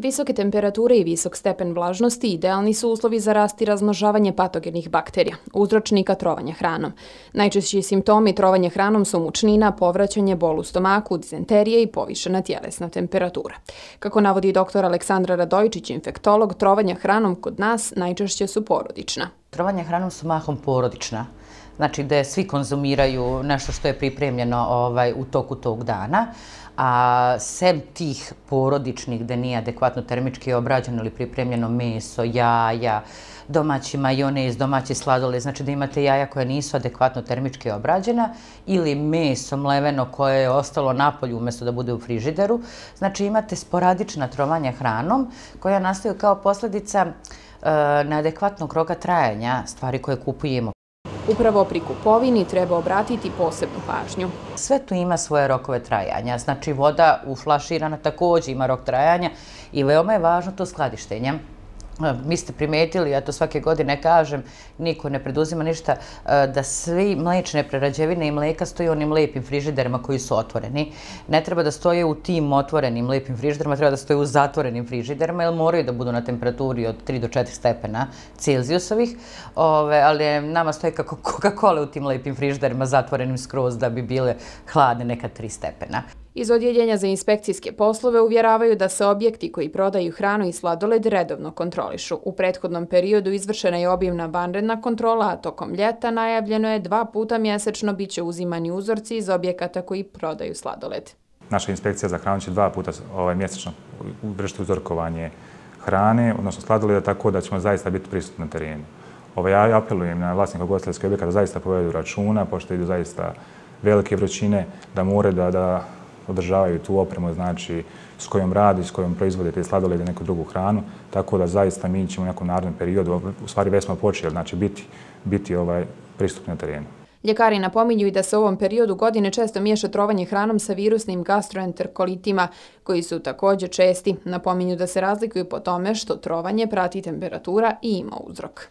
Visoke temperature i visok stepen vlažnosti idealni su uslovi za rast i razmnožavanje patogenih bakterija, uzročnika trovanja hranom. Najčešći simptomi trovanja hranom su mučnina, povraćanje, bol u stomaku, dizenterije i povišena tjelesna temperatura. Kako navodi dr. Aleksandra Radojičić, infektolog, trovanja hranom kod nas najčešće su porodična. Trovanja hranom su mahom porodična, znači da svi konzumiraju nešto što je pripremljeno u toku tog dana, a sem tih porodičnih gde nije adekvatno termički obrađeno ili pripremljeno meso, jaja, domaći majonez, domaći sladoled, znači da imate jaja koja nisu adekvatno termički obrađena ili meso mleveno koje je ostalo napolju umjesto da bude u frižideru, znači imate sporadična trovanja hranom koja nastaju kao posljedica neadekvatnog roka trajanja stvari koje kupujemo. Upravo pri kupovini treba obratiti posebnu pažnju. Sve tu ima svoje rokove trajanja, znači voda uflaširana također ima rok trajanja i veoma je važno to skladištenje. Mi ste primetili, ja to svake godine kažem, niko ne preduzima ništa, da svi mlečne prerađevine i mleka stoje u onim lijepim frižiderima koji su otvoreni. Ne treba da stoje u tim otvorenim lijepim frižiderima, treba da stoje u zatvorenim frižiderima, jer moraju da budu na temperaturi od 3 do 4 stepena Celzijusovih, ali nama stoje kako Coca-Cola u tim lijepim frižiderima zatvorenim skroz da bi bile hladne neka 3 stepena. Iz Odjeljenja za inspekcijske poslove uvjeravaju da se objekti koji prodaju hranu i sladoled redovno kontrolišu. U prethodnom periodu izvršena je obimna vanredna kontrola, a tokom ljeta najavljeno je 2 puta mjesečno biće uzimani uzorci iz objekata koji prodaju sladoled. Naša inspekcija za hranu će 2 puta mjesečno vršiti uzorkovanje hrane, odnosno sladoleda, tako da ćemo zaista biti prisutni na terenu. Ja apelujem na vlasnika ugostiteljskih objekata da zaista povedu računa, pošto idu zaista velike vrućine, da moraju da održavaju tu opremu, znači s kojom radi, s kojom proizvode te sladolede i neku drugu hranu, tako da zaista mi ćemo u nekom narednom periodu, u stvari već smo počeli, znači biti pristupni na terenu. Ljekari napominju i da se u ovom periodu godine često miješa trovanje hranom sa virusnim gastroenterokolitima, koji su također česti. Napominju da se razlikuju po tome što trovanje prati temperatura i ima uzrok.